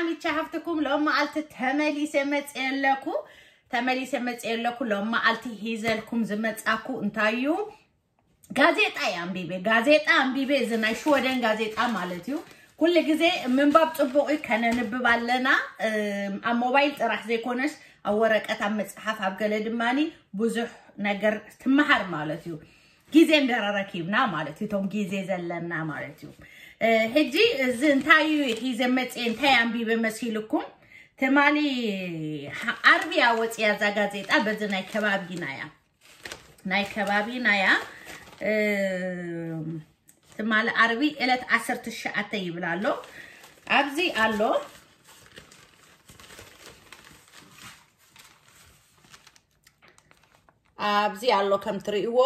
ሚቻ ሃፍትኩም ሎም መዓልቲ ተመሊሰ መጽየ ኣለኩ። ተመሊሰ መጽየ ኣለኩ። ሎም መዓልቲ ሂዘልኩም ዝመጻኩ እንታይ እዩ? ጋዜጣ እየ ኣንቢበ። ጋዜጣ ኣንቢበ፣ እዚ ናይ ሽወደን ጋዜጣ ማለት እዩ። ኩሉ ግዜ ምንባብ ጽቡቕ እዩ፣ ከነንብብ ኣለና። እም፣ ኣብ ሞባይል ጥራሕ ዘይኮነስ ኣብ ወረቀት፣ ኣብ መጽሓፍ፣ ኣብ ገለ ድማኒ ብዙሕ ነገር ትመሃር ማለት እዩ። ግዜ እንደረረኪብና ማለት እዩ፣ እቶም ግዜ ዘለና ማለት እዩ። እ፣ ሕጂ እዚ እንታይ እዩ ሒዘ መጽየ፣ እንታይ ኣንቢበ መሲልኩም? ትማሊ ሓ-፣ ዓርቢ እያ ወጽያ እዛ ጋዜጣ፣ በዚ ናይ ከባቢና እያ። ናይ ከባቢና እያ። እ፣ ትማሊ ዓርቢ ዕለት ዓሰርተ ትሽዓተ ይብል ኣሎ። ኣብዚ ኣሎ። ኣብዚ ኣሎ ከም ትርእይዎ፣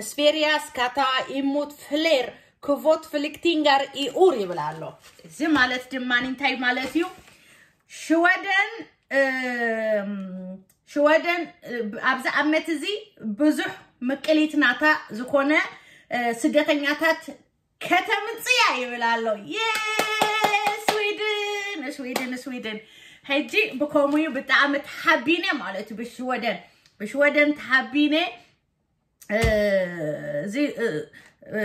ስፔሪያ ስካታ ኢሙት ፍሌር ክቮት ፍሊክቲንጋር ኢኡር ይብል ኣሎ። እዚ ማለት ድማ እንታይ ማለት እዩ? ሽወደን፣ እም፣ ሽወደን፣ እ፣ ኣብዚ ዓመት እዚ ብዙሕ ምቅሊት ናታ ዝኾነ፣ እ፣ ስደተኛታት ከተምጽያ ይብል ኣሎ። የ-፣ ስዊድን፣ ስዊድን፣ ስዊድን። ሕጂ ብከምኡ እዩ ብጣዕሚ ተሓቢነ ማለት እዩ። ብሽወደን፣ ብሽወደን ተሓቢነ። እ፣ እዚ፣ እ፣ እ፣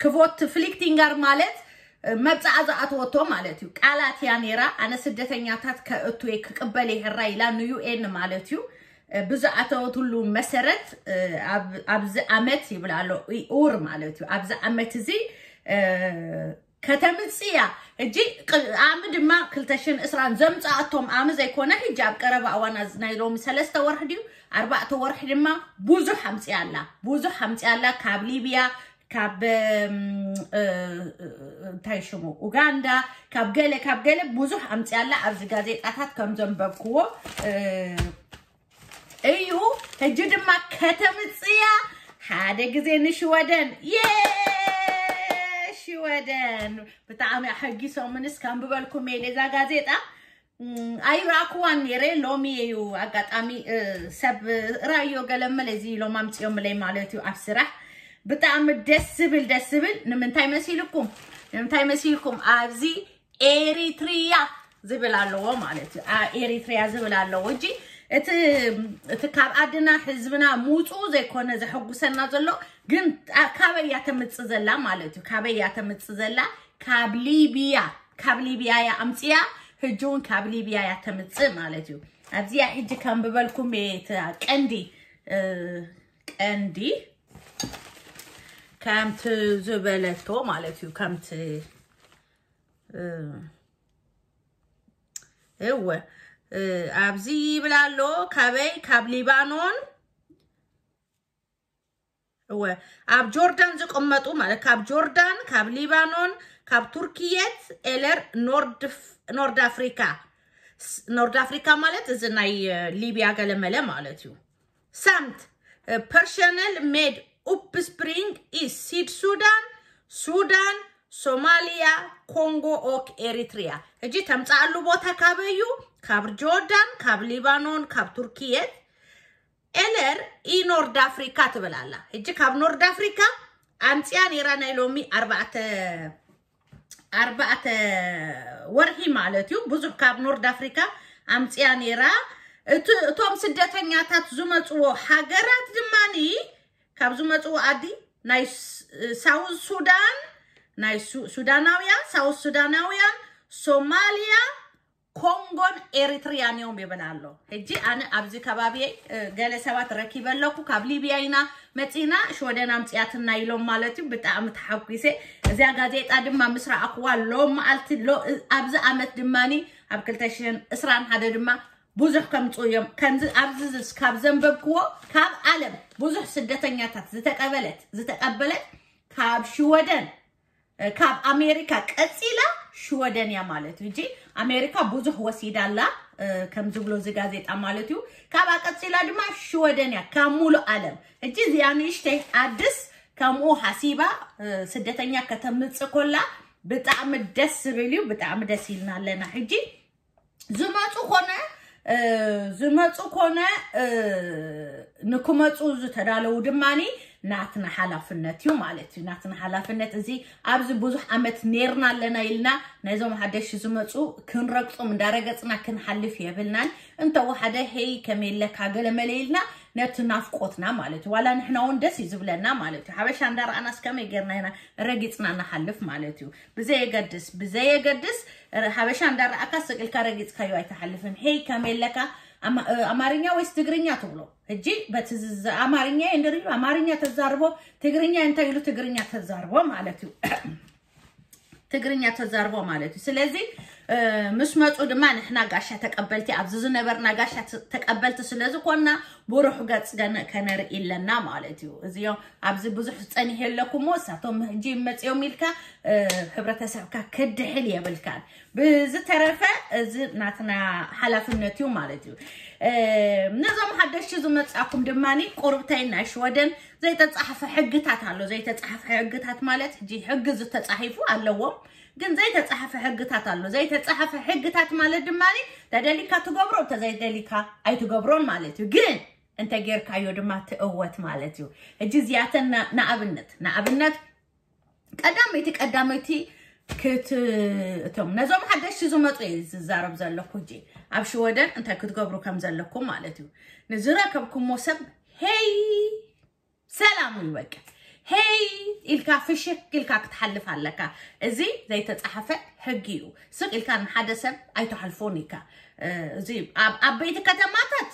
ክቮት ፍሊክቲንጋር ማለት፣ እ፣ መብጽዓ ዝኣተወቶ ማለት እዩ። ቃላት እያ ነይራ። ኣነ ስደተኛታት ከእቱ እየ፣ ክቅበል እየ ሕራይ ኢላ ንዩ ኤን ማለት እዩ። እ፣ ብዝኣተወትሉ መሰረት፣ እ፣ ኣብ-፣ ኣብዚ ዓመት ይብል ኣሎ፣ ኢኡር ማለት እዩ። ኣብዚ ዓመት እዚ፣ እ፣ ከተምጽእ እያ። ሕጂ ቅ-፣ ዓሚ ድማ ክልተ ሽሕን ዕስራን ዘምጽኣቶም ዓሚ ዘይኮነ፣ ሕጂ ኣብ ቀረባ እዋን፣ ኣዝ-፣ ናይ ሎሚ ሰለስተ ወርሒ ድዩ ኣርባዕተ ወርሒ ድማ ብዙሕ ኣምጽያ ኣላ። ብዙሕ ኣምጽያ ኣላ። ካብ ሊብያ፣ ካብ፣ እም፣ እ፣ እ፣ እንታይ ሽሙ፣ ኡጋንዳ፣ ካብ ገለ፣ ካብ ገለ ብዙሕ ኣምጽያ ኣላ። ኣብዚ ጋዜጣታት ከም ዘንበብክዎ፣ እ፣ እዩ። ሕጂ ድማ ከተምጽያ ሓደ ግዜ ንሽወደን። የ-፣ ሽወደን ብጣዕሚ ኣሐጊሶምንስ ከንብበልኩም እየ እዛ ጋዜጣ። እም፣ ኣይረኣኩዋን ነይረ፣ ሎሚ እዩ ኣጋጣሚ፣ እ፣ ሰብ ራዮ ገለመለ እዚ ኢሎም ኣምጽዮምለይ ማለት እዩ ኣብ ስራሕ። ብጣዕሚ ደስ ዝብል፣ ደስ ዝብል። ንምንታይ መሲልኩም? ንምንታይ መሲልኩም? ኣብዚ ኤሪትሪያ ዝብል ኣለዎ ማለት እዩ። ኣ-፣ ኤሪትሪያ ዝብል ኣለዎ። እጂ እቲ፣ እቲ ካብ ዓድና ህዝብና ምውፅኡ ዘይኮነ ዘሐጉሰና ዘሎ፣ ግን ኣ-፣ ካበይ እያ ተምፅእ ዘላ ማለት እዩ። ካበይ እያ ተምፅእ ዘላ? ካብ ሊብያ፣ ካብ ሊብያ እያ ኣምፅያ። ሕጂ እውን ካብ ሊብያ እያ ተምፅእ ማለት እዩ። ኣብዚኣ ሕጂ ከንብበልኩም እየ፣ እታ ቀንዲ፣ እ፣ ቀንዲ ከምቲ ዝበለቶ ማለት እዩ። ከምቲ፣ እ፣ እወ፣ እ፣ ኣብዚ ይብል ኣሎ፣ ካበይ? ካብ ሊባኖን፣ እወ፣ ኣብ ጆርዳን ዝቕመጡ ማለት፣ ካብ ጆርዳን፣ ካብ ሊባኖን፣ ካብ ቱርክየት፣ ኤለር ኖርድ ፍ-፣ ኖርድ ኣፍሪካ። ስ-፣ ኖርድ ኣፍሪካ ማለት እዚ ናይ፣ እ፣ ሊብያ ገለመለ ማለት እዩ። ሳምት፣ እ፣ ፐርሸነል ሜድ ኡፕስፕሪንግ ኢስ ሲድ ሱዳን፣ ሱዳን፣ ሶማሊያ፣ ኮንጎ ኦክ ኤሪትሪያ። ሕጂ ተምፅኣሉ ቦታ ካበይ እዩ? ካብ ጆርዳን፣ ካብ ሊባኖን፣ ካብ ቱርክየት። ኤለር ኢ ኖርድ ኣፍሪካ ትብል ኣላ። ሕጂ ካብ ኖርድ ኣፍሪካ ኣምፅያ ነይራ ናይ ሎሚ ኣርባዕተ፣ ኣርባዕተ ወርሒ ማለት እዩ። ብዙሕ ካብ ኖርድ ኣፍሪካ ኣምፅያ ነይራ። እቲ፣ እቶም ስደተኛታት ዝመፅዎ ሃገራት ድማኒ፣ ካብ ዝመፅዎ ዓዲ ናይ ስ-፣ ሳውዝ ሱዳን፣ ናይ ሱ-፣ ሱዳናውያን፣ ሳውዝ ሱዳናውያን፣ ሶማሊያ፣ ኮንጎን ኤሪትሪያን እዮም ይብል ኣሎ። ሕጂ ኣነ ኣብዚ ከባቢየይ፣ እ፣ ገለ ሰባት ረኪበ ኣለኩ፣ ካብ ሊብያ ኢና መጺና፣ ሽወደን ኣምጺኣትና ኢሎም ማለት እዩ። ብጣዕሚ ተሓጒሰ። እዚኣ ጋዜጣ ድማ ምስ ረኣኽዋ ሎም መዓልቲ፣ ሎ-፣ እ፣ ኣብዚ ዓመት ድማኒ ኣብ ክልተ ሽሕን ዕስራን ሓደ ድማ ብዙሕ ከምጽኡ እዮም። ከምዚ ኣብዚ ዝስ-፣ ካብ ዘንበብክዎ፣ ካብ ዓለም ብዙሕ ስደተኛታት ዝተቀበለት፣ ዝተቀበለት ካብ ሽወደን፣ እ፣ ካብ ኣሜሪካ ቀጺላ ሽወደን እያ ማለት እዩ። ሕጂ ኣሜሪካ ብዙሕ ወሲዳ ኣላ፣ እ፣ ከም ዝብሎ እዚ ጋዜጣ ማለት እዩ። ካብኣ ቀጺላ ድማ ሽወደን እያ ካብ ሙሉእ ዓለም። ሕጂ እዚኣ ንእሽተይ ዓድስ ከምኡ ሓሲባ፣ እ፣ ስደተኛ ከተምጽእ ኮላ ብጣዕሚ ደስ ዝብል እዩ። ብጣዕሚ ደስ ኢልና ኣለና። ሕጂ ዝመጹ ኮነ፣ እ፣ ዝመጹ ኮነ፣ እ፣ ንክመፁ ዝተዳለዉ ድማኒ ናትና ሓላፍነት እዩ ማለት እዩ። ናትና ሓላፍነት እዚ ኣብዚ ብዙሕ ዓመት ኔርና ኣለና ኢልና ነዞም ሓደሽ ዝመፁ ክንረግፆም እንዳረገፅና ክንሓልፍ የብልናን። እንተወሓደ ሄይ ከመይ ኣለካ ገለመለ ኢልና ነቲ ናፍቆትና ማለት እዩ። ዋላ ንሕና እውን ደስ እዩ ዝብለና ማለት እዩ። ሓበሻ እንዳረኣናስ ከመይ ጌርና ኢና ረጊፅና ንሓልፍ ማለት እዩ። ብዘየገድስ ብዘየገድስ ሓበሻ እንዳረኣካ ስቅልካ ረጊፅካዮ ኣይትሓልፍን። ሄይ ከመይ ኣለካ ኣማርኛ ወይስ ትግርኛ ትብሎ? ሕጂ በቲ ኣማርኛ እንድርዩ ኣማርኛ ተዛርቦ፣ ትግርኛ እንታይ ኢሉ ትግርኛ ተዛርቦ ማለት እዩ። ትግርኛ ተዛርቦ ማለት እዩ። ስለዚ ምስ መፁ ድማ ንሕና ጋሻ ተቀበልቲ ኣብዚ ዝነበርና ጋሻ ተቀበልቲ ስለዝኮና ብሩሕ ገፅ ከነርኢ ኣለና ማለት እዩ። እዚኦም ኣብዚ ብዙሕ ዝፀኒሕ የለኩም እሳቶም ሕጂ መፅኦም ኢልካ ሕብረተሰብካ ክድሕል የብልካን። ብዝተረፈ እዚ ናትና ሓላፍነት እዩ ማለት እዩ። ነዞም ሓደሽቲ ዝመፃኩም ድማ ቁርብተይ ናይ ሽወደን ዘይተፃሓፈ ሕግታት ኣሎ። ዘይተፃሓፈ ሕግታት ማለት ሕጂ ሕጊ ዝተፃሒፉ ኣለዎም፣ ግን ዘይተፃሓፈ ሕግታት ኣሎ። ዘይተፃሓፈ ሕግታት ማለት ድማ ተደሊካ ትገብሮ፣ እንተዘይደሊካ ኣይትገብሮን ማለት እዩ። ግን እንተ ጌርካዮ ድማ ትእወት ማለት እዩ። ሕጂ እዚኣተን ንኣብነት ንኣብነት ቀዳመይቲ ቀዳመይቲ ክት እቶም ነዞም ሓደሽቲ ዝመፁ እየ ዝዛረብ ዘለኩ። ሕጂ ኣብ ሽወደን እንታይ ክትገብሩ ከም ዘለኩም ማለት እዩ። ንዝረከብኩሞ ሰብ ሄይ ሰላም እዩ በቃ። ሄይ ኢልካ ፍሽክ ኢልካ ክትሓልፍ ኣለካ። እዚ ዘይተፃሓፈ ሕጊ እዩ። ስቅ ኢልካ ንሓደ ሰብ ኣይተሓልፎን ኢካ። እዚ ኣብ ዓበይቲ ከተማታት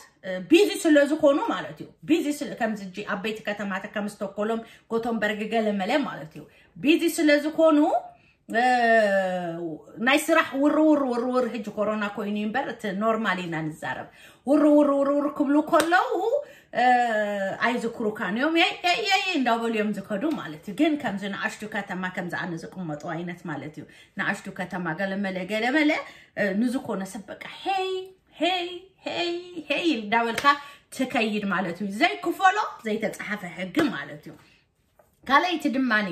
ቢዚ ስለ ዝኾኑ ማለት እዩ። ቢዚ ስለ ከምዚ ሕጂ ዓበይቲ ከተማታት ከም ስቶኮሎም፣ ጎተንበርግ ገለመለ ማለት እዩ። ቢዚ ስለ ዝኾኑ ናይ ስራሕ ውርውር ውርውር ሕጂ ኮሮና ኮይኑ እምበር እቲ ኖርማል ኢና ንዛረብ። ውርውር ውርውር ክብሉ ከለዉ ኣይዝክሩካን እዮም። የይ እንዳበሉ እዮም ዝከዱ ማለት እዩ። ግን ከምዚ ንኣሽቱ ከተማ ከምዚ ኣነ ዝቅመጡ ዓይነት ማለት እዩ። ንኣሽቱ ከተማ ገለመለ ገለመለ ንዝኮነ ሰብ በቃ ሄይ ሄይ ሄይ ሄይ እንዳበልካ ትከይድ ማለት እዩ። ዘይክፈሎ ዘይተፃሓፈ ሕጊ ማለት እዩ። ካልኣይቲ ድማኒ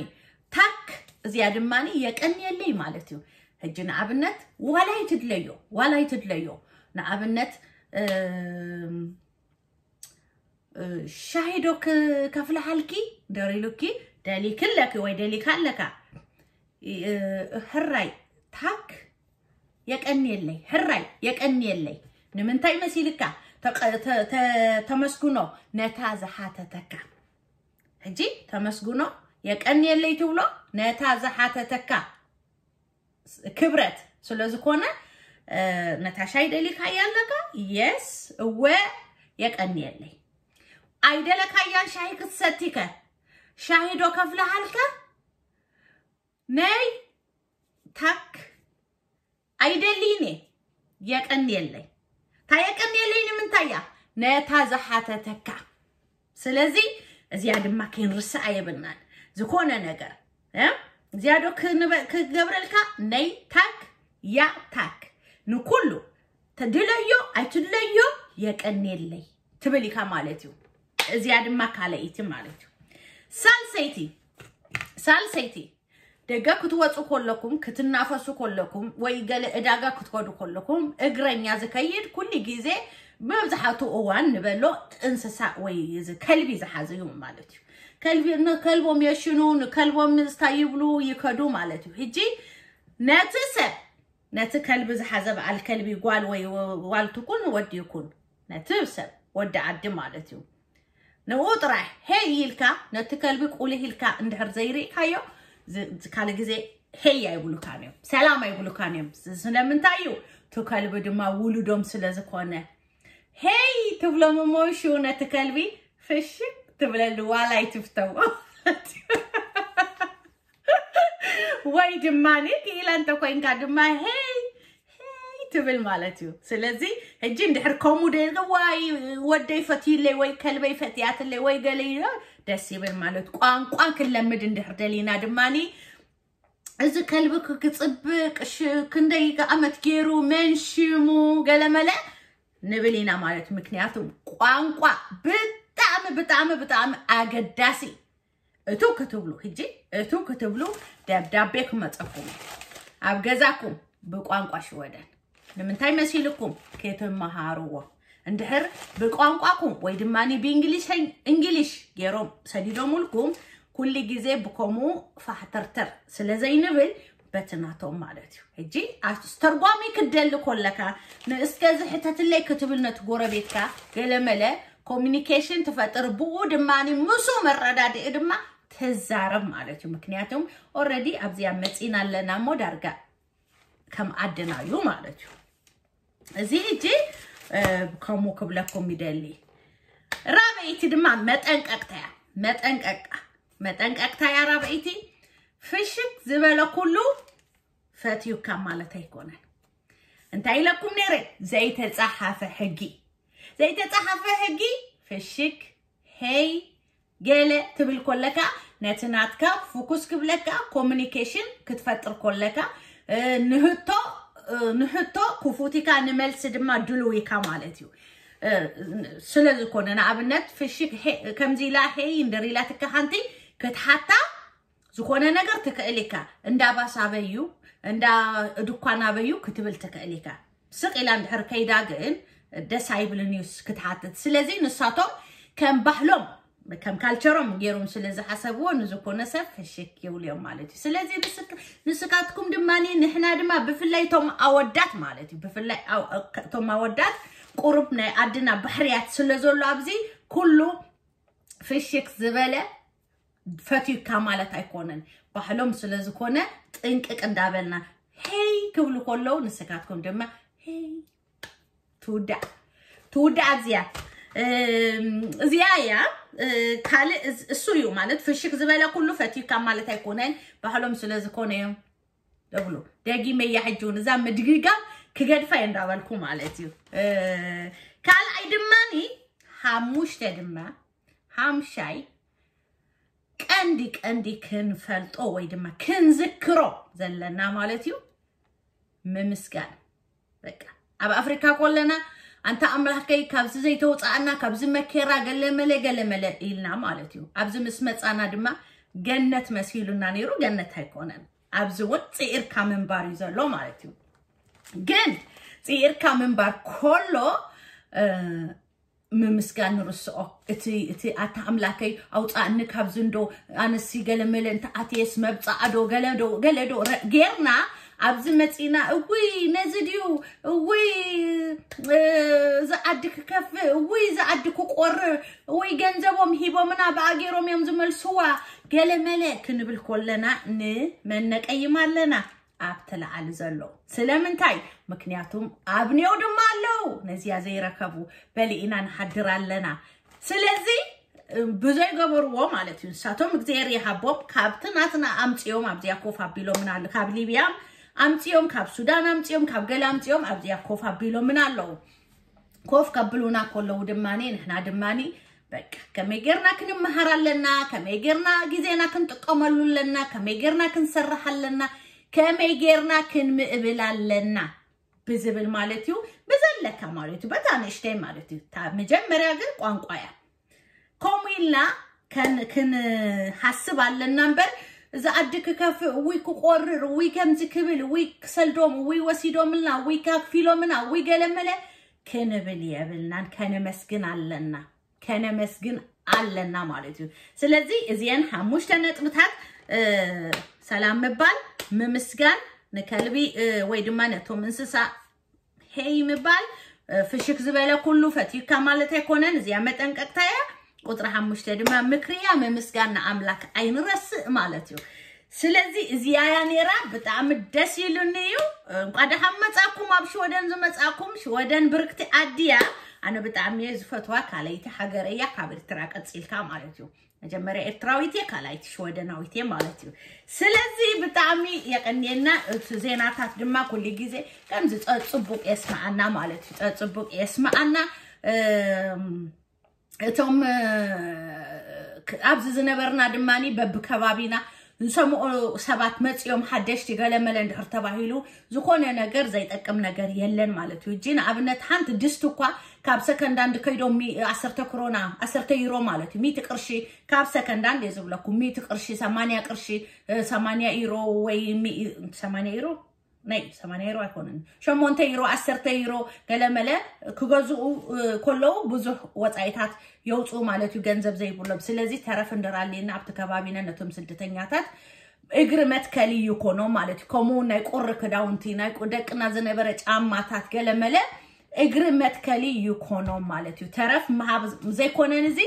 ታክ እዚኣ ድማኒ የቀንየለይ ማለት እዩ። ሕጂ ንኣብነት ዋላ ይትድለዮ ዋላ ይትድለዮ ንኣብነት ሻሂ ዶ ከፍልሓልኪ ደሪሉኪ ደሊክለኪ ወይ ደሊካ ኣለካ ሕራይ ታክ የቀንየለይ ሕራይ የቀንየለይ። ንምንታይ መሲልካ ተመስግኖ ነታ ዝሓተተካ። ሕጂ ተመስግኖ የቀንየለይ ትብሎ ነታ ዝሓተተካ ክብረት ስለዝኮነ ነታ ሻሂ ደሊካያ ኣለካ የስ እወ የቀንየለይ። ኣይደለካያን ሻሂ ክትሰቲከ ሻሂ ዶ ከፍልሃልከ ነይ ታክ ኣይደልይን እየ የቀንየለይ። እታ የቀንየለይ ንምንታይ እያ ነታ ዝሓተተካ። ስለዚ እዚኣ ድማ ከይንርስኣ የብልናን። ዝኾነ ነገር እዚኣ ዶ ክገብረልካ ነይ ታክ ያ ታክ ንኩሉ ትድለዮ ኣይትድለዮ የቀንየለይ ትብል ኢካ ማለት እዩ። እዚኣ ድማ ካልኣይቲ ማለት እዩ። ሳልሰይቲ ሳልሰይቲ ደገ ክትወፁ ከለኩም ክትናፈሱ ከለኩም ወይ ገለ ዕዳጋ ክትከዱ ከለኩም እግረኛ ዝከይድ ኩሉ ግዜ መብዛሕቱ እዋን ንበሎ እንስሳ ወይ እዚ ከልቢ ዝሓዘ እዩ ማለት እዩ። ከልቢ ንከልቦም የሽኑ ንከልቦም ንስታይ ይብሉ ይከዱ ማለት እዩ። ሕጂ ነቲ ሰብ ነቲ ከልቢ ዝሓዘ በዓል ከልቢ ጓል ወይ ዋል ትኩን ወዲ ይኩን ነቲ ሰብ ወዲ ዓዲ ማለት እዩ። ንኡ ጥራሕ ሄይ ኢልካ ነቲ ከልቢ ቁልህ ኢልካ እንድሕር ዘይርኢካዮ ካልእ ግዜ ሄይ ኣይብሉካን እዮም ሰላም ኣይብሉካን እዮም። ስለምንታይ እዩ እቲ ከልቢ ድማ ውሉዶም ስለ ዝኾነ ሄይ ትብሎም እሞ ሽኡ ነቲ ከልቢ ፍሽክ ትብለሉ ዋላ ኣይትፍተዎ። ወይ ድማ ክኢላ እንተኮይንካ ድማ ሄይ ሄይ ትብል ማለት እዩ። ስለዚ ሕጂ እንድሕር ከምኡ ደዋይ ወደይ ፈትዩለይ ወይ ከልበይ ፈትያትለይ ወይ ገለ ደስ ይብል ማለት ቋንቋ ክንለምድ እንድሕር ደሊና ድማ እዚ ከልቢ ክፅብቅ ክንደይ ዓመት ገይሩ መንሽሙ ገለመለ ንብል ኢና ማለት ምክንያቱ ቋንቋ ብጣዕሚ ብጣዕሚ ብጣዕሚ ኣገዳሲ እቱ ክትብሉ ሕጂ እቱ ክትብሉ ደብዳቤ ክመፀኩም ኣብ ገዛኩም ብቋንቋ ሽወደን ንምንታይ መሲልኩም ክትመሃርዎ እንድሕር ብቋንቋኩም ወይ ድማ ብእንግሊሽ እንግሊሽ ገይሮም ሰዲዶምልኩም ኩሉ ግዜ ብከምኡ ፋሕተርተር ስለ ዘይንብል በቲ ናቶም ማለት እዩ። ሕጂ ኣስተርጓሚ ክደሊ ኮለካ ንእስከ ዝሕተትለይ ክትብል ነቲ ጎረቤትካ ገለመለ ኮሚኒኬሽን ትፈጥር፣ ብኡ ድማ ምሱ መረዳድኢ ድማ ትዛረብ ማለት እዩ። ምክንያቱም ኦረዲ ኣብዚኣ መፂና ኣለና እሞ ዳርጋ ከም ዓድና እዩ ማለት እዩ። እዚ ሕጂ ከምኡ ክብለኩም ይደሊ። ራበይቲ ድማ መጠንቀቅታ እያ። መጠንቀቅታ መጠንቀቅታ እያ ራበይቲ። ፍሽክ ዝበለ ኩሉ ፈትዩካ ማለት ኣይኮነን። እንታይ ኢለኩም ነይረ? ዘይተጻሓፈ ሕጊ ዘይተጻሓፈ ሕጊ ፍሽክ ሄይ ገለ ትብል ኮለካ ነቲ ናትካ ፉኩስ ክብለካ ኮሚኒኬሽን ክትፈጥር ኮለካ ንህቶ ንህቶ ክፉቲካ ንመልሲ ድማ ድልዊካ ማለት እዩ። ስለ ዝኾነ ንኣብነት ፍሽክ ከምዚ ኢላ ሄይ እንደሪላትካ ሓንቲ ክትሓታ ዝኾነ ነገር ትክእል ኢካ። እንዳ ባስ ኣበዩ እንዳ ድኳን ኣበዩ ክትብል ትክእል ኢካ። ስቕ ኢላ እንድሕር ከይዳ ግን ደስ ኣይብልን እዩስ ክትሓትት። ስለዚ ንሳቶም ከም ባህሎም ከም ካልቸሮም ገይሮም ስለ ዝሓሰብዎ ንዝኮነ ሰብ ፍሽክ ይብሉ እዮም ማለት እዩ። ስለዚ ንስካትኩም ድማ ንሕና ድማ ብፍላይ እቶም ኣወዳት ማለት እዩ ብፍላይ እቶም ኣወዳት ቁሩብ ናይ ኣድና ባሕርያት ስለ ዘሎ ኣብዚ ኩሉ ፍሽክ ዝበለ ፈትዩካ ማለት ኣይኮነን። ባህሎም ስለ ዝኾነ ጥንቅቅ እንዳበልና ሄይ ክብሉ ከለዉ ንስካትኩም ድማ ሄይ ትውዳእ ትውዳእ ኣብዚያ እዚኣ እያ። ካልእ እሱ እዩ ማለት ፍሽክ ዝበለ ኩሉ ፈትዩካ ማለት ኣይኮነን። ባህሎም ስለ ዝኾነ እዮም ደብሉ። ደጊመያ ሕጂ እውን እዛ ምድግጋም ክገድፋ እየ እንዳበልኩ ማለት እዩ። ካልኣይ ድማኒ ሓሙሽተ ድማ ሓምሻይ ቀንዲ ቀንዲ ክንፈልጦ ወይ ድማ ክንዝክሮ ዘለና ማለት እዩ ምምስጋን። በቃ ኣብ ኣፍሪካ ኮለና ኣንታ ኣምላኸይ ካብዚ ዘይተውፃኣና ካብዚ መከራ ገለመለ ገለመለ ኢልና ማለት እዩ። ኣብዚ ምስ መፃና ድማ ገነት መሲሉና ነይሩ፣ ገነት ኣይኮነን። ኣብዚ እውን ፅኢርካ ምንባር እዩ ዘሎ ማለት እዩ። ግን ፅኢርካ ምንባር ኮሎ ምምስጋን ንርስኦ። እቲ እቲ ኣታ ኣምላከይ ኣውፃእኒ ካብዚ እንዶ ኣነሲ ገለመለ እንተ ኣትየስ መብፃኣ ዶ ገለ ዶ ገለ ዶ ረ- ጌርና ኣብዚ መፂና እውይ ነዚ ድዩ እውይ እዚ ዓዲ ክከፍእ እውይ እዚ ዓዲ ክቆርር እውይ ገንዘቦም ሂቦምና ብኣገሮም እዮም ዝመልስዋ ገለመለ ክንብል ኮለና ንመን ነቀይም ኣለና? ኣብቲ ላዕሊ ዘሎ። ስለምንታይ? ምክንያቱም ኣብንዮ ድማ ኣለዉ ነዚያ ዘይረከቡ በሊእና ንሓድር ኣለና። ስለዚ ብዘይገበርዎ ማለት እዩ ንሳቶም እግዚኣብሔር ይሃቦም ካብቲ ናትና ኣምፅኦም ኣብዚኣ ኮፍ ኣቢሎምና ኣሎ ካብ ሊብያ ኣምፅኦም ካብ ሱዳን ኣምፅኦም ካብ ገለ ኣምፅኦም ኣብዚኣ ኮፍ ኣቢሎምና ኣለዉ። ኮፍ ከብሉና ከለዉ ድማ ንሕና ድማ በቃ ከመይ ጌርና ክንመሃር ኣለና፣ ከመይ ጌርና ግዜና ክንጥቀመሉ ኣለና፣ ከመይ ጌርና ክንሰርሕ ኣለና፣ ከመይ ጌርና ክንምእብል ኣለና ብዝብል ማለት እዩ። ብዘለካ ማለት እዩ፣ በታ ንእሽተይ ማለት እዩ። እታ መጀመርያ ግን ቋንቋ እያ። ከምኡ ኢልና ከን- ክንሓስብ ኣለና እምበር እዚ ዓዲ ክከፍእ እውይ ክቆርር እውይ ከምዚ ክብል እውይ ክሰልዶም እውይ ወሲዶምልና እውይ ካክፊሎምና እውይ ገለመለ ክንብል የብልናን። ከነመስግን ኣለና ከነመስግን ኣለና ማለት እዩ። ስለዚ እዚአን ሓሙሽተ ነጥብታት እ፣ ሰላም ምባል ምምስጋን ንከልቢ እ፣ ወይ ድማ ነቶም እንስሳ ሄይ ምባል እ፣ ፍሽክ ዝበለ ኩሉ ፈትዩካ ማለት ኣይኮነን። እዚኣ መጠንቀቅታ እያ። ቁፅሪ ሓሙሽተ ድማ ምክሪ እያ። ምምስጋን ንኣምላክ ኣይንረስእ ማለት እዩ። ስለዚ እዚኣ እያ ነይራ። ብጣዕሚ ደስ ኢሉኒ እዩ። እንኳ ደሓን መፃኩም ኣብ ሽወደን ዝመፃኩም። ሽወደን ብርክቲ ዓዲ እያ። ኣነ ብጣዕሚ እየ ዝፈትዋ። ካልኣይቲ ሃገር እያ ካብ ኤርትራ ቀፂልካ ማለት እዩ። መጀመርያ ኤርትራዊት እየ ካልኣይቲ ሽወደናዊት እየ ማለት እዩ። ስለዚ ብጣዕሚ የቀንየና። እቲ ዜናታት ድማ ኩሉ ግዜ ከምዚ ፀፅቡቅ የስመዓና ማለት እዩ። ፀፅቡቅ የስመዓና። እም፣ እቶም እ፣ ክ- ኣብዚ ዝነበርና ድማ በብከባቢና ንሰምኦ ሰባት መፂኦም ሓደሽቲ ገለመለ እንድሕር ተባሂሉ ዝኾነ ነገር ዘይጠቅም ነገር የለን ማለት እዩ። እጂ ንኣብነት ሓንቲ ድስቲ እኳ ካብ ሰከንዳንድ ከይዶም ሚ- ዓሰርተ ክሮና ዓሰርተ ዩሮ ማለት እዩ ሚእቲ ቅርሺ ካብ ሰከንዳንድ እየ ዝብለኩም ሚእቲ ቅርሺ ሰማንያ ቅርሺ እ፣ ሰማንያ ዩሮ ወይ ሚ- ሰማንያ ዩሮ ናይ ሰማንያ ዩሮ ኣይኮነን፣ ሸሞንተ ዩሮ፣ ዓሰርተ ዩሮ ገለመለ ክገዝኡ ከለዉ ብዙሕ ወፃኢታት የውፅኡ ማለት እዩ፣ ገንዘብ ዘይብሎም። ስለዚ ተረፍ እንድራልና ኣብቲ ከባቢና ነቶም ስደተኛታት እግሪ መትከሊ ይኮኖም ማለት እዩ። ከምኡ ናይ ቁሪ ክዳውንቲ፣ ናይ ደቅና ዝነበረ ጫማታት ገለመለ እግሪ መትከሊ ይኮኖም ማለት እዩ። ተረፍ ምሃብ ዘይኮነን እዚ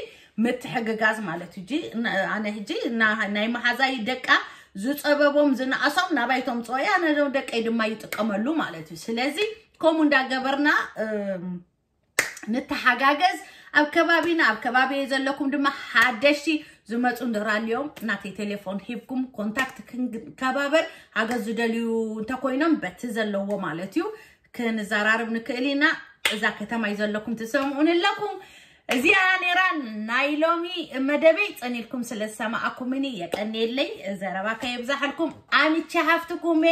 ምትሕግጋዝ ማለት እዩ። ኣነ ሕጂ ናይ መሓዛይ ደቃ ዝፀበቦም ዝነኣሶም ናባይቶም ፅኦያ፣ ኣነ ደቀይ ድማ ይጥቀመሉ ማለት እዩ። ስለዚ ከምኡ እንዳገበርና ንተሓጋገዝ። ኣብ ከባቢና ኣብ ከባቢ ዘለኩም ድማ ሓደሽቲ ዝመፁ እንድራልዮም ናተይ ቴሌፎን ሂብኩም ኮንታክት ክንከባበር፣ ሓገዝ ዝደልዩ እንተኮይኖም በቲ ዘለዎ ማለት እዩ ክንዘራርብ ንክእል ኢና። እዛ ከተማ እዩ ዘለኩም ትሰምዑን ኣለኩም። እዚኣ ነራ ናይ ሎሚ መደበይ። ፀኒልኩም ስለ ዝሰማኣኩምኒ የቀንየለይ። ዘረባ ከየብዛሓልኩም። ኣምቼ ሃፍትኩሜ፣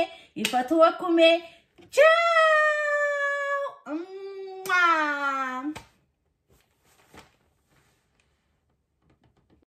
ይፈትወኩሜ። ቻው።